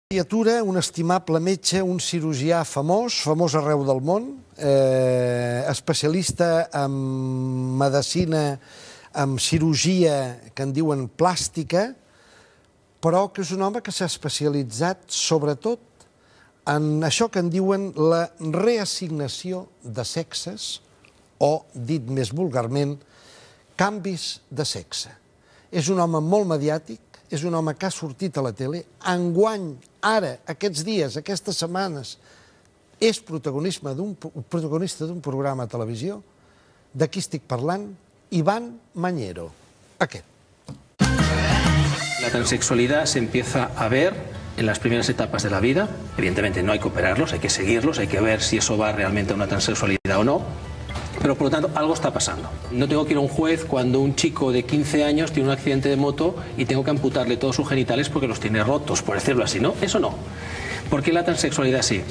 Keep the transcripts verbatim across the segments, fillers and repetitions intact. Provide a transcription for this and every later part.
Criatura, un estimable metge, un cirurgià famós, famós arreu del món, eh, especialista en medicina, en cirurgia, que en diuen plàstica, però que és un home que s'ha especialitzat sobretot en això que en diuen la reassignació de sexes, o, dit més vulgarment, canvis de sexe. És un home molt mediàtic, és un home que ha sortit a la tele, enguany, ara, aquests dies, aquestes setmanes, és protagonista d'un programa de televisió. De qui estic parlant? Iván Mañero. Aquest. La transexualidad se empieza a ver en las primeras etapas de la vida. Evidentemente no hay que operarlos, hay que seguirlos, hay que ver si eso va realmente a una transexualidad o no. Pero por lo tanto algo está pasando. No tengo que ir a un juez cuando un chico de quince años tiene un accidente de moto y tengo que amputarle todos sus genitales porque los tiene rotos, por decirlo así, ¿no? Eso no. ¿Por qué la transexualidad sí?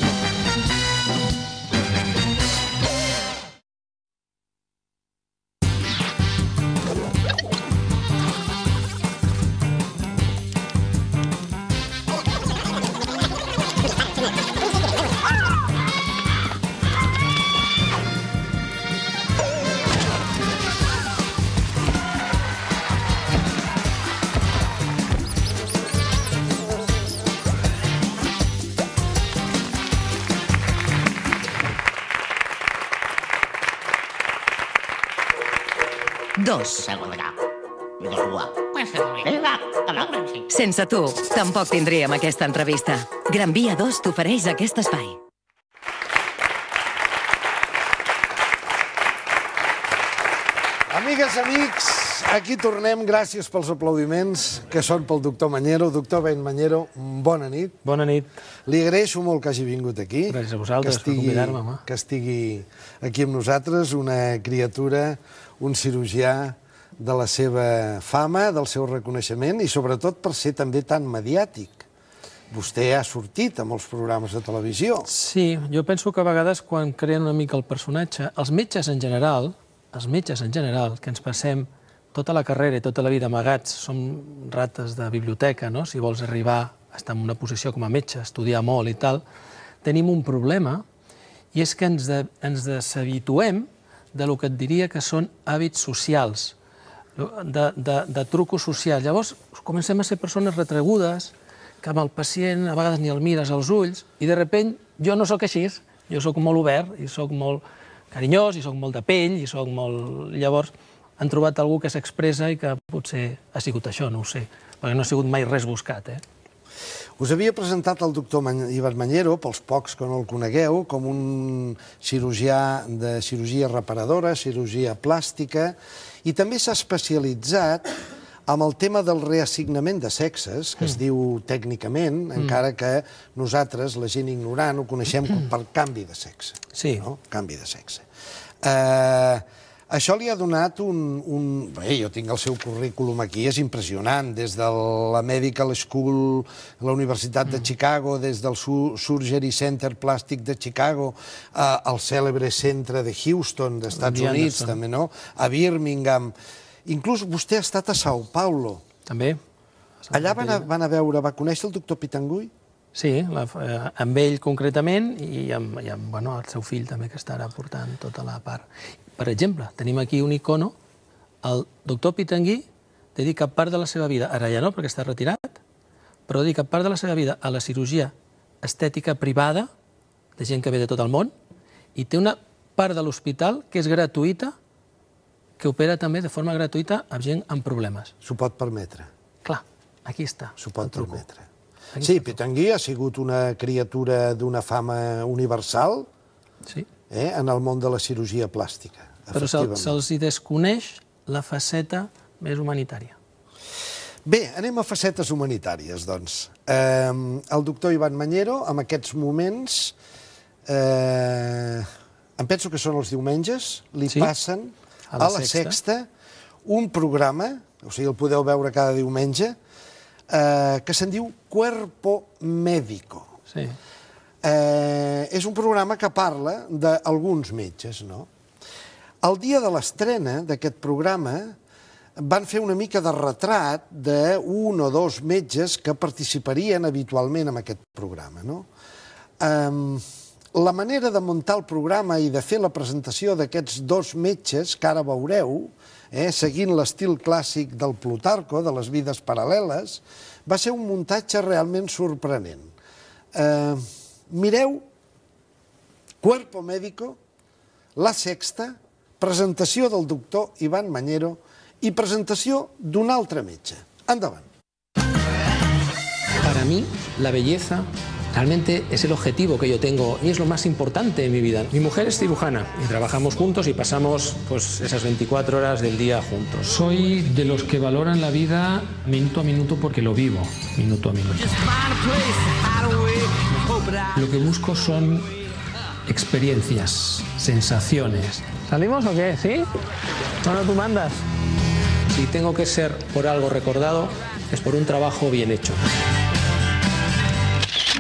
Dos. Sense tu, tampoc tindríem aquesta entrevista. Gran Via dos t'ofereix aquest espai. Amigues, amics, aquí tornem. Gràcies pels aplaudiments, que són pel doctor Mañero. Doctor Ben Mañero, bona nit. Bona nit. Li agraeixo molt que hagi vingut aquí. Gràcies a vosaltres per convidar-me, home. Que estigui aquí amb nosaltres, una criatura, un cirurgià de la seva fama, del seu reconeixement i sobretot per ser també tan mediàtic. Vostè ha sortit a molts programes de televisió. Sí, jo penso que a vegades quan creen una mica el personatge, els metges en general, els metges en general, que ens passem tota la carrera i tota la vida amagats, som rates de biblioteca, no? Si vols arribar a estar en una posició com a metge, estudiar molt i tal, tenim un problema i és que ens, de, ens deshabituem del que et diria que són hàbits socials, de, de, de trucos socials. Llavors comencem a ser persones retregudes, que amb el pacient a vegades ni el mires als ulls, i de sobte jo no sóc així, jo sóc molt obert, i sóc molt carinyós, i sóc molt de pell, i sóc molt... Llavors han trobat algú que s'expressa i que potser ha sigut això, no ho sé, perquè no ha sigut mai res buscat, eh? Us havia presentat el doctor Iván Mañero, pels pocs que no el conegueu, com un cirurgià de cirurgia reparadora, cirurgia plàstica, i també s'ha especialitzat amb el tema del reassignament de sexes, que es diu tècnicament, encara que nosaltres, la gent ignorant, ho coneixem per canvi de sexe. Sí. Canvi de sexe. Això li ha donat un... Bé, jo tinc el seu currículum aquí, és impressionant, des de la Medical School, la Universitat de Chicago, des del Surgery Center Plàstic de Chicago, al cèlebre centre de Houston, dels Estats Units, també, no? A Birmingham. Inclús vostè ha estat a São Paulo. També. Allà van a veure, va conèixer el doctor Pitangui? Sí, amb ell concretament i amb el seu fill també, que estarà portant tota la part. Per exemple, tenim aquí un icono, el doctor Pitangui dedica part de la seva vida, ara ja no perquè està retirat, però dedica part de la seva vida a la cirurgia estètica privada, de gent que ve de tot el món, i té una part de l'hospital que és gratuïta, que opera també de forma gratuïta amb gent amb problemes. S'ho pot permetre. Clar, aquí està. S'ho pot permetre. Sí, Pitangui ha sigut una criatura d'una fama universal en el món de la cirurgia plàstica. Però se'ls desconeix la faceta més humanitària. Bé, anem a facetes humanitàries, doncs. El doctor Iván Mañero, en aquests moments, em penso que són els diumenges, li passen a la Sexta un programa, o sigui, el podeu veure cada diumenge, que se'n diu Cuerpo Médico. Sí. És un programa que parla d'alguns metges, no? El dia de l'estrena d'aquest programa van fer una mica de retrat d'un o dos metges que participarien habitualment en aquest programa. La manera de muntar el programa i de fer la presentació d'aquests dos metges, que ara veureu, seguint l'estil clàssic del Plutarco, de les vides paral·leles, va ser un muntatge realment sorprenent. Mireu Cuerpo Médico, La Sexta, presentació del doctor Iván Mañero y presentación de un altre metge. Endavant. Para mí, la belleza realmente es el objetivo que yo tengo y es lo más importante en mi vida. Mi mujer es cirujana y trabajamos juntos y pasamos pues, esas veinticuatro horas del día juntos. Soy de los que valoran la vida minuto a minuto porque lo vivo, minuto a minuto. Lo que busco son experiencias, sensaciones. ¿Salimos o qué? ¿Sí? Bueno, tú mandas. Si tengo que ser por algo recordado, es por un trabajo bien hecho.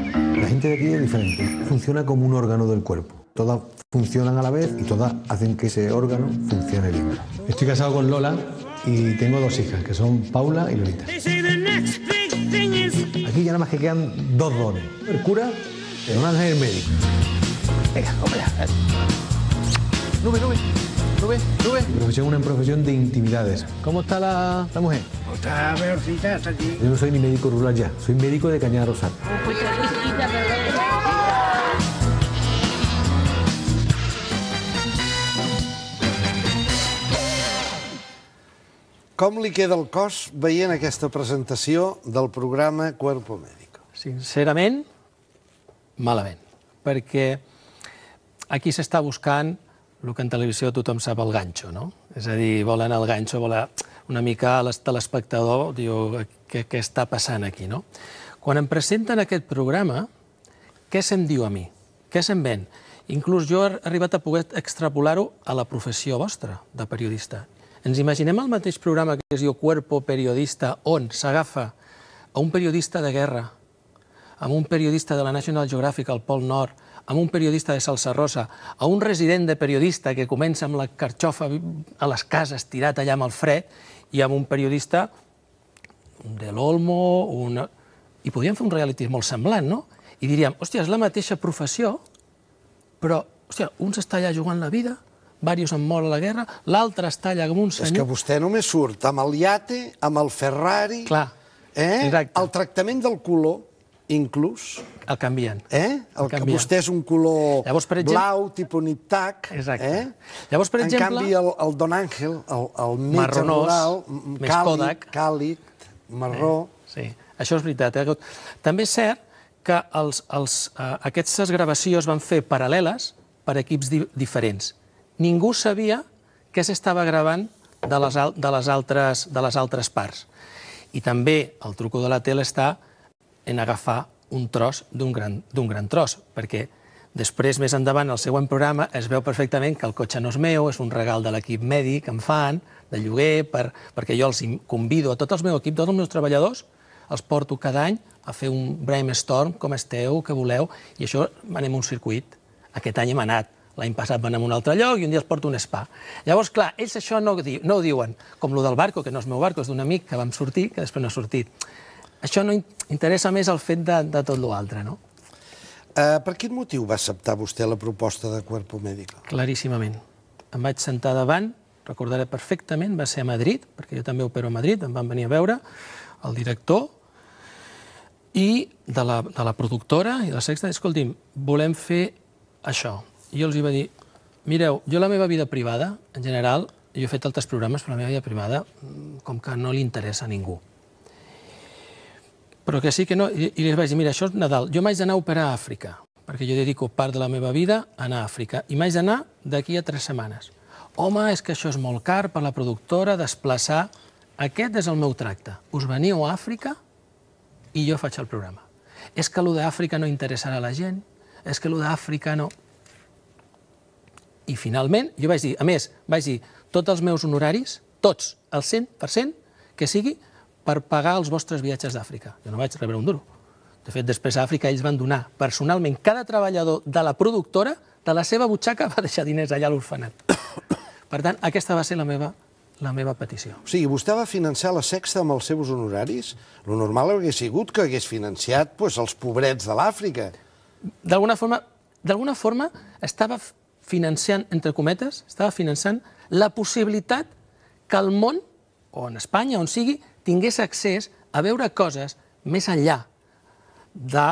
La gente de aquí es diferente. Funciona como un órgano del cuerpo. Todas funcionan a la vez y todas hacen que ese órgano funcione bien. Estoy casado con Lola y tengo dos hijas, que son Paula y Lolita. Aquí ya nada más que quedan dos dones. El cura y un ángel médico. Venga, vamos allá. Nube, nube, nube, nube. Mi profesión es una profesión de intimidades. ¿Cómo está la, la mujer? Está peorcita, está aquí. Yo no soy ni médico rural ya, soy médico de Cañada Rosal. Com li queda el cos veient aquesta presentació del programa Cuerpo Médico? Sincerament, malament, perquè aquí s'està buscant el que en televisió tothom sap, el ganxo, no? És a dir, volen el ganxo, volen una mica l'espectador, diu, què, què està passant aquí, no? Quan em presenten aquest programa, què se'm diu a mi? Què se'm ven? Inclús jo he arribat a poder extrapolar-ho a la professió vostra de periodista. Ens imaginem el mateix programa que es diu Cuerpo Periodista, on s'agafa a un periodista de guerra, a un periodista de la National Geographic al Pol Nord, amb un periodista de Salsa Rosa, a un resident de periodista que comença amb la carxofa a les cases tirat allà amb el fred, i amb un periodista de l'Olmo, una... i podríem fer un reality molt semblant, no? I diríem, hòstia, és la mateixa professió, però, hòstia, un s'està allà jugant la vida, diversos han mort a la guerra, l'altre està allà com un senyor... És que vostè només surt amb el iate, amb el Ferrari... Clar, exacte. El tractament del color, inclús... El canvien. El que vostè és un color blau, tipus niptac. Exacte. Llavors, per exemple... En canvi, el Don Ángel, el metge rural, càlid, marró... Sí, això és veritat. També és cert que aquestes gravacions van fer paral·leles per equips diferents. Ningú sabia què s'estava gravant de les altres parts. I també el truco de la tele està en agafar un tros d'un gran tros, perquè després, més endavant, al següent programa, es veu perfectament que el cotxe no és meu, és un regal de l'equip mèdic que em fan, de lloguer, perquè jo els convido a tot el meu equip, tots els meus treballadors, els porto cada any a fer un brainstorm, com esteu, què voleu, i això anem a un circuit. Aquest any hem anat, l'any passat van a un altre lloc i un dia els porto a un spa. Llavors, clar, ells això no ho diuen, com el del barco, que no és meu barco, és d'un amic que vam sortir, que després no ha sortit. Això no interessa més el fet de tot l'altre, no? Per quin motiu va acceptar vostè la proposta de Cuerpo Médico? Claríssimament. Em vaig sentar davant, recordaré perfectament, va ser a Madrid, perquè jo també opero a Madrid, em van venir a veure el director i de la productora i de la Sexta, escolti'm, volem fer això. I jo els va dir, mireu, jo la meva vida privada, en general, jo he fet altres programes, però la meva vida privada, com que no li interessa a ningú. Però que sí que no, i li vaig dir, mira, això és Nadal, jo m'haig d'anar a operar a Àfrica, perquè jo dedico part de la meva vida a anar a Àfrica, i m'haig d'anar d'aquí a tres setmanes. Home, és que això és molt car per la productora desplaçar, aquest és el meu tracte, us veniu a Àfrica i jo faig el programa. És que allò d'Àfrica no interessarà a la gent, és que allò d'Àfrica no... I finalment, jo vaig dir, a més, vaig dir, tots els meus honoraris, tots, el cent per cent, que sigui per pagar els vostres viatges d'Àfrica. Jo no vaig rebre un duro. De fet, després a Àfrica ells van donar personalment, cada treballador de la productora, de la seva butxaca, va deixar diners allà a l'orfenat. Per tant, aquesta va ser la meva la meva petició. O sigui, vostè va financiar la Sexta amb els seus honoraris? Lo normal hauria sigut que hagués financiat pues, els pobrets de l'Àfrica. D'alguna forma, d'alguna forma estava financiant, entre cometes, estava finançant la possibilitat que el món, o en Espanya, on sigui, tingués accés a veure coses més enllà de,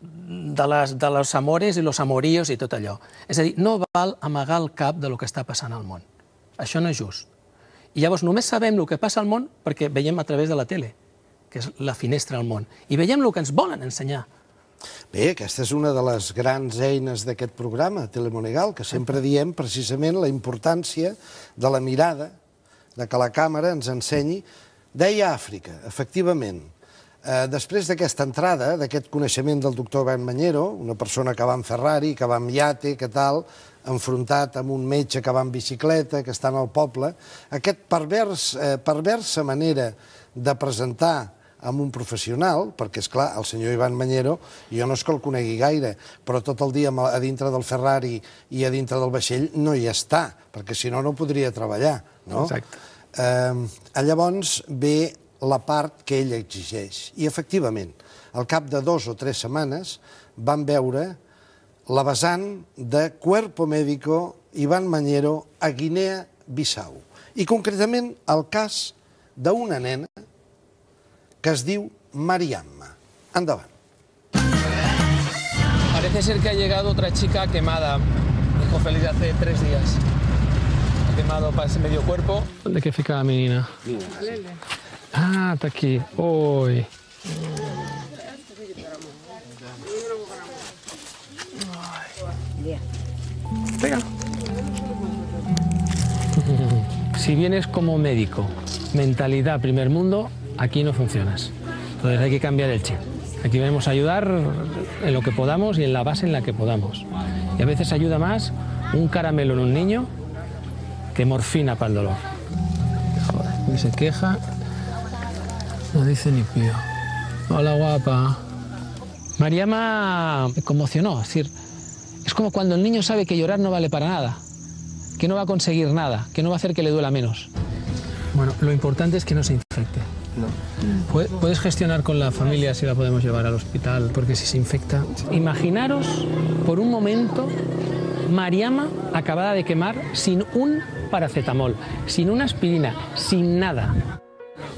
de, les, de los amores i los amoríos i tot allò. És a dir, no val amagar el cap de lo que està passant al món. Això no és just. I llavors només sabem el que passa al món perquè veiem a través de la tele, que és la finestra al món, i veiem el que ens volen ensenyar. Bé, aquesta és una de les grans eines d'aquest programa, Telemonegal, que sempre diem precisament la importància de la mirada, de que la càmera ens ensenyi. Deia Àfrica, efectivament. Eh, després d'aquesta entrada, d'aquest coneixement del doctor Ivan Mañero, una persona que va en Ferrari, que va en iate, que tal, enfrontat amb un metge que va en bicicleta, que està en el poble, aquest pervers, eh, perversa manera de presentar amb un professional, perquè, és clar, el senyor Ivan Mañero, jo no és que el conegui gaire, però tot el dia a dintre del Ferrari i a dintre del vaixell no hi està, perquè si no, no podria treballar, no? Exacte. Eh, llavors ve la part que ell exigeix. I, efectivament, al cap de dos o tres setmanes van veure la vessant de Cuerpo Médico Ivan Mañero a Guinea-Bissau. I, concretament, el cas d'una nena que es diu Mariamma. Endavant. Parece ser que ha llegado otra chica quemada, dijo Félix hace tres días. Ha quemado para ese medio cuerpo. ¿Dónde que fica la menina? Ah, está aquí. Uy. Venga. Si vienes como médico, mentalidad primer mundo, aquí no funcionas. Entonces hay que cambiar el chip. Aquí venimos a ayudar en lo que podamos y en la base en la que podamos. Y a veces ayuda más un caramelo en un niño que morfina para el dolor. Joder, y se queja, no dice ni pío. Hola, guapa. Mariama me conmocionó, es decir, es como cuando el niño sabe que llorar no vale para nada, que no va a conseguir nada, que no va a hacer que le duela menos. Bueno, lo importante es que no se infecte. No. Puedes gestionar con la familia si la podemos llevar al hospital, porque si se infecta... Imaginaros, por un momento, Mariama acabada de quemar sin un paracetamol, sin una aspirina, sin nada.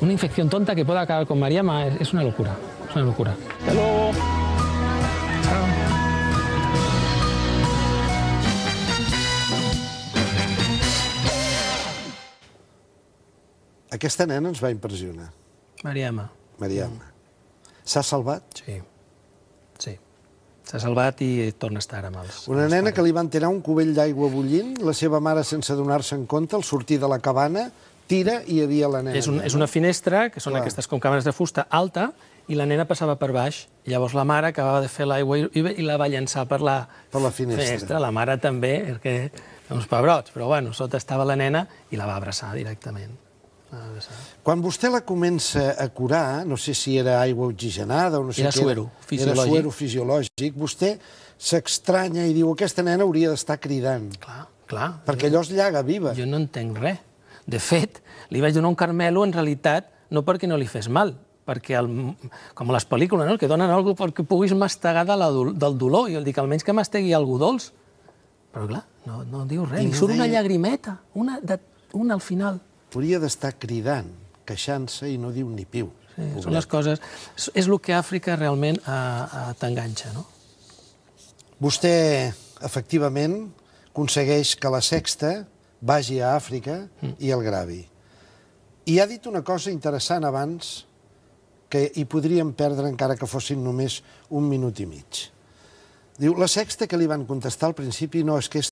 Una infección tonta que pueda acabar con Mariama es una locura, es una locura. Hasta luego. Aquesta nena ens va impressionar. Mariama. Mariamma. S'ha salvat? Sí, sí. S'ha salvat i torna a estar amb els... Una nena que li van tirar un cubell d'aigua bullint, la seva mare, sense donar-se en compte, al sortir de la cabana, tira i hi havia la nena. És, un, és una finestra, que són Clar. aquestes com càmeres de fusta, alta, i la nena passava per baix. Llavors la mare acabava de fer l'aigua i, i la va llançar per la, Per la finestra. finestra. La mare també, perquè uns pebrots, però bueno, sota estava la nena i la va abraçar directament. Quan vostè la comença a curar, no sé si era aigua oxigenada o no sé Era què... suero fisiològic. Era suero fisiològic. Vostè s'estranya i diu, aquesta nena hauria d'estar cridant. Clar, clar. Perquè allò es llaga viva. Jo no entenc res. De fet, li vaig donar un carmelo, en realitat, no perquè no li fes mal, perquè, el, com a les pel·lícules, no? Que donen alguna cosa perquè puguis mastegar de la, del dolor. I jo dic, almenys que mastegui alguna dolç. Però clar, no, no diu res. I Li no surt una deia- llagrimeta, una, de, una al final. Hauria d'estar cridant, queixant-se i no diu ni piu. Sí, són les coses... És és el que Àfrica realment eh, eh, t'enganxa, no? Vostè, efectivament, aconsegueix que la Sexta vagi a Àfrica i el gravi. I ha dit una cosa interessant abans, que hi podríem perdre encara que fossin només un minut i mig. Diu, la Sexta que li van contestar al principi no és que és